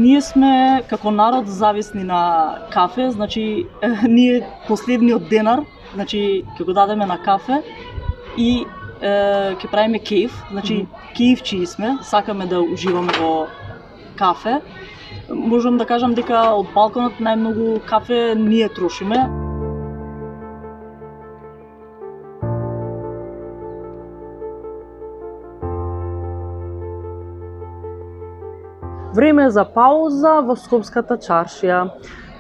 Ние сме како народ зависни на кафе, значи ние последниот денар, значи ќе го дадеме на кафе и ќе правиме кејф, значи кејфчи сме, сакаме да уживаме во кафе. Можам да кажам дека од балконот најмногу кафе ние трошиме. Време за пауза во Скопската чаршија.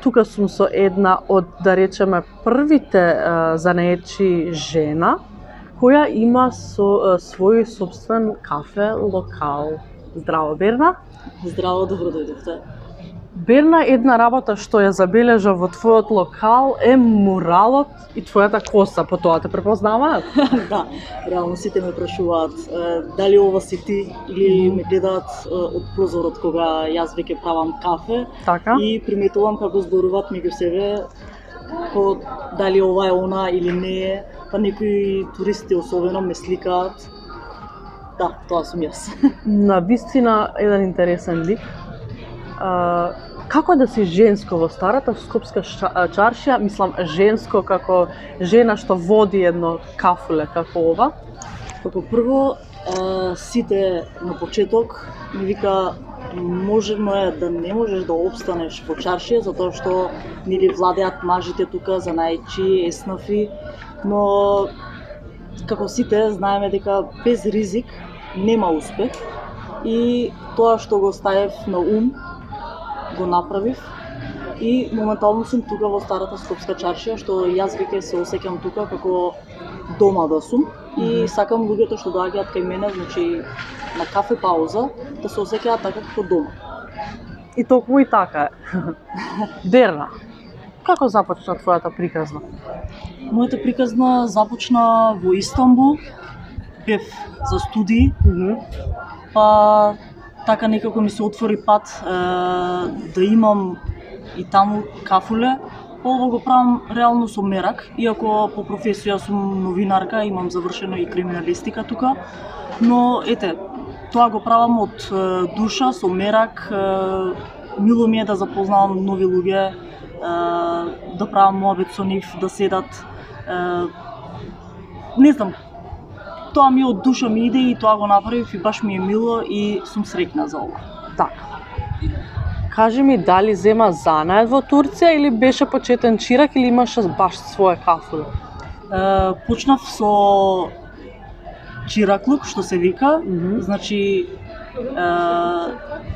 Тука сум со една од, да речеме, првите занаечи жена, која има свој собствен кафе локал. Здраво, Берна. Здраво, добро дојдовте. Берна, една работа што ја забележа во твојот локал е муралот и твојата коса, по тоа те препознаваат? Да, реално сите ме прашуваат дали ова си ти или ме гледаат од прозорот кога јас веќе правам кафе. Така? И приметувам како зборуваат меѓу себе, дали ова е она или не е, па некои туристи особено ме сликаат. Да, тоа сум јас. На вистина еден интересен лик. Како да си женско во старата Скопска чаршија, мислам женско како жена што води едно кафуле како ова? Како прво, сите на почеток ми вика можено е да не можеш да опстанеш во чаршија затоа што нели владеат мажите тука занаечи, еснафи, но како сите знаеме дека без ризик нема успех и тоа што го ставев на ум го направив и моментално сум тука во старата Скопска чаршија, што јас веќе се осеќам тука како дома да сум и сакам луѓето што доаѓаат кај мене, значи на кафе пауза, да се осеќаат така како дома. И токму и така е. Берна, како започна твојата приказна? Мојата приказна започна во Истанбул, бев за студии, па така некако ми се отвори пат да имам и таму кафуле. Ова го правам реално со мерак, иако по професија сум новинарка, имам завршено и криминалистика тука, но ете, тоа го правам од душа, со мерак, мило ми е да запознавам нови луѓе, да правам муабет со нив, да седат, не знам, тоа ми од душа ми иде и тоа го направив и баш ми е мило и сум среќна за ова. Така. Кажи ми, дали зема занаед во Турција или беше почетен чирак или имаше баш своја кафуле? Почнав со чираклук, што се вика, значи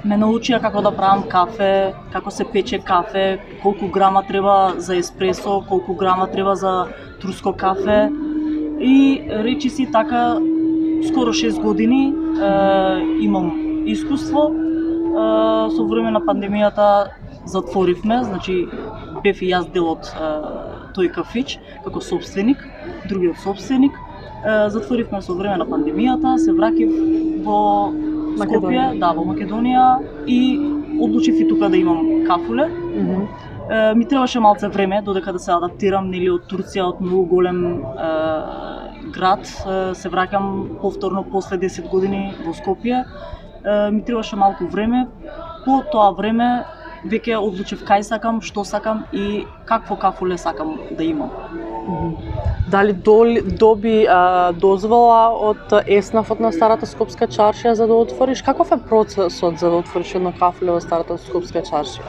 ме научија како да правам кафе, како се пече кафе, колку грама треба за еспресо, колку грама треба за турско кафе. И речи си така, скоро 6 години имам искуство. Со време на пандемијата затворивме, значи бев и јас дел од тој кафич како собственик, другиот собственик. Затворивме со време на пандемијата, се враќав во Скопје, да, во Македонија и одлучив и тука да имам кафуле. Ми требаше малце време додека да се адаптирам, нели од Турција, од многу голем град, се враќам повторно после 10 години во Скопје. Ми требаше малку време. По тоа време веќе одлучив кај сакам, што сакам и какво кафуле сакам да имам. Дали доби дозвола од еснафот на старата Скопска чаршија за да отвориш? Каков е процесот за да отвориш едно кафуле во старата Скопска чаршија?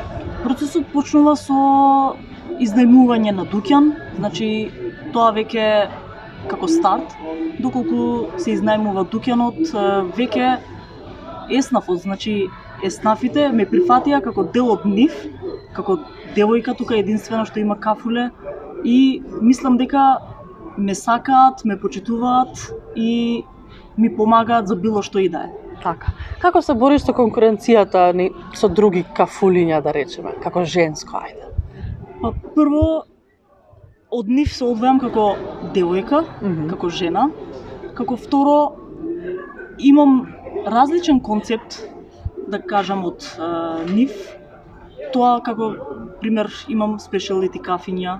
Процесот почнува со изнајмување на дуќан, значи тоа веќе како старт, доколку се изнајмува дуќанот, веќе еснафот, значи еснафите ме прифатија како дел од нив, како девојка тука единствено што има кафуле и мислам дека ме сакаат, ме почитуваат и ми помагаат за било што и да е. Така. Како се бориш со конкуренцијата со други кафулиња, да речеме, како женско, ајде? Па прво од нив се одвојам како девојка, како жена. Како второ имам различен концепт, да кажам, од нив. Тоа како пример имам спешалити кафиња.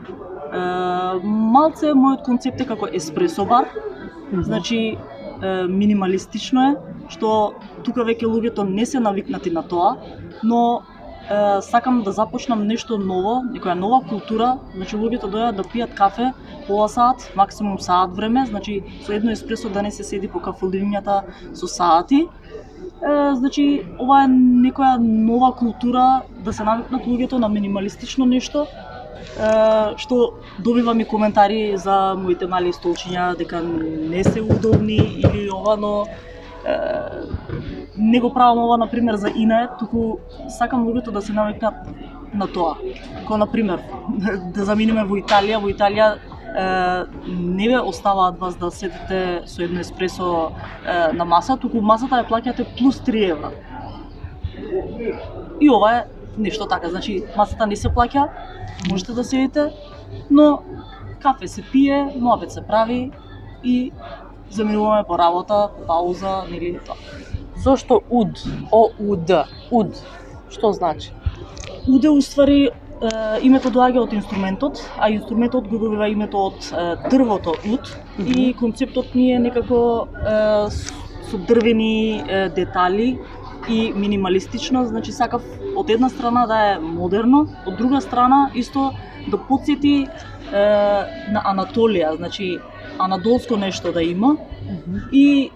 Малце мојот концепт е како еспресо бар. Значи минималистично е, што тука веќе луѓето не се навикнати на тоа, но сакам да започнам нешто ново, некоја нова култура, значи луѓето дојдат да пијат кафе пола саат, максимум саат време, значи со едно еспресо да не се седи по кафелињата со саати. Значи ова е некоја нова култура, да се навикнат луѓето на минималистично нешто, што добивам и коментари за моите мали столчиња дека не се удобни или ова, но не го правам ова например за инае, туку сакам луѓето да се навикнат на тоа. Како например да заминеме во Италија, не ве оставаат вас да седите со едно еспресо на маса, туку масата ја плаќате плюс 3 евра. И ова е нешто така, значи масата не се плаќа, можете да седите, но кафе се пие, муабет се прави и заминуваме по работа, пауза, нели тоа. Зошто уд? О-у-д. Уд. Што значи? Уд уствари името доаѓа од инструментот, а инструментот го добива името од дрвото уд и концептот ми е некако со дрвени детали и минималистично, значи сакав од една страна да е модерно, од друга страна исто да потсети на Анатолија, значи анадолско нешто да има и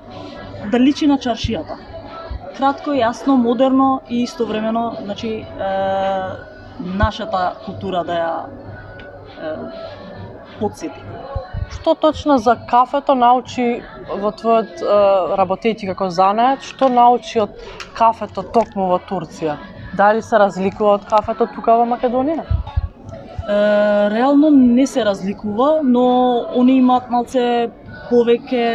да личи на чаршијата. Кратко, јасно, модерно и истовремено, значи нашата култура да ја потсети. Што точно за кафето научи во твојот работејќи како занает, што научи од кафето токму во Турција? Дали се разликува од кафето тука во Македонија? Реално не се разликува, но они имаат малце повеќе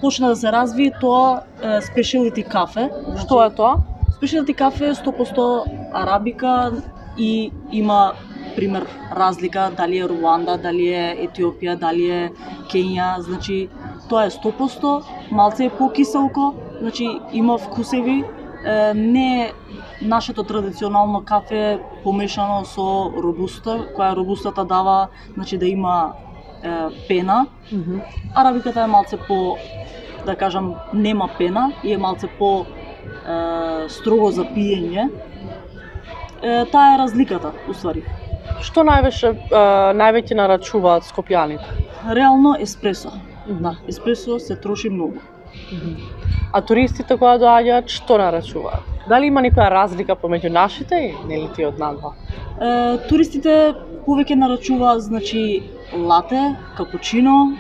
почна да се разви тоа спешиалити кафе. Што е тоа? Спешиалити кафе е 100% арабика и има пример разлика дали е Руанда, дали е Етиопија, дали е Кенија, значи тоа е 100%, малце е покиселко, значи има вкусеви, не е нашето традиционално кафе помешано со робуста, која робустата дава, значи да има пена. Арабиката е малце по, да кажам, нема пена и е малце по строго за пиење. Таа е разликата, уствари. Што највеќе нарачуваат скопјаните? Реално еспресо. Да, еспресо се троши многу. А туристите кои доаѓаат, што нарачуваат? Дали има некоја разлика помеѓу нашите и нели тие од надва? Туристите повеќе нарачуваат, значи, лате, капучино,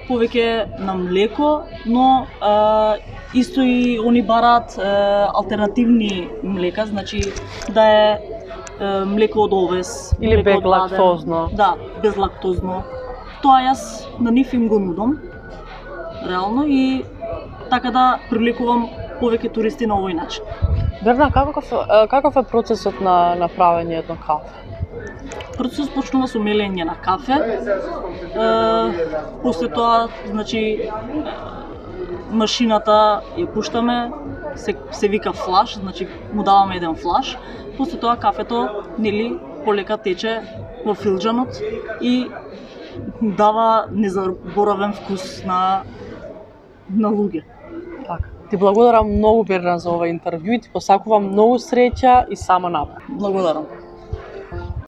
повеќе на млеко, но исто и они бараат алтернативни млека, значи да е млеко од овес или безлактозно. Да, безлактозно. Тоа јас на нив им го нудам, реално, и така да привлекувам повеќе туристи на овој начин. Берна, каков е процесот на правење на кафе? Процесот почнува со мелење на кафе. После тоа, значи, машината ја пуштаме, се вика флаш, значи му даваме еден флаш. После тоа кафето, нели, полека тече во филџанот и дава незаборавен вкус на луѓе. Така. Ти благодарам многу, Берна, за ова интервју и ти посакувам многу среќа и само напред. Благодарам.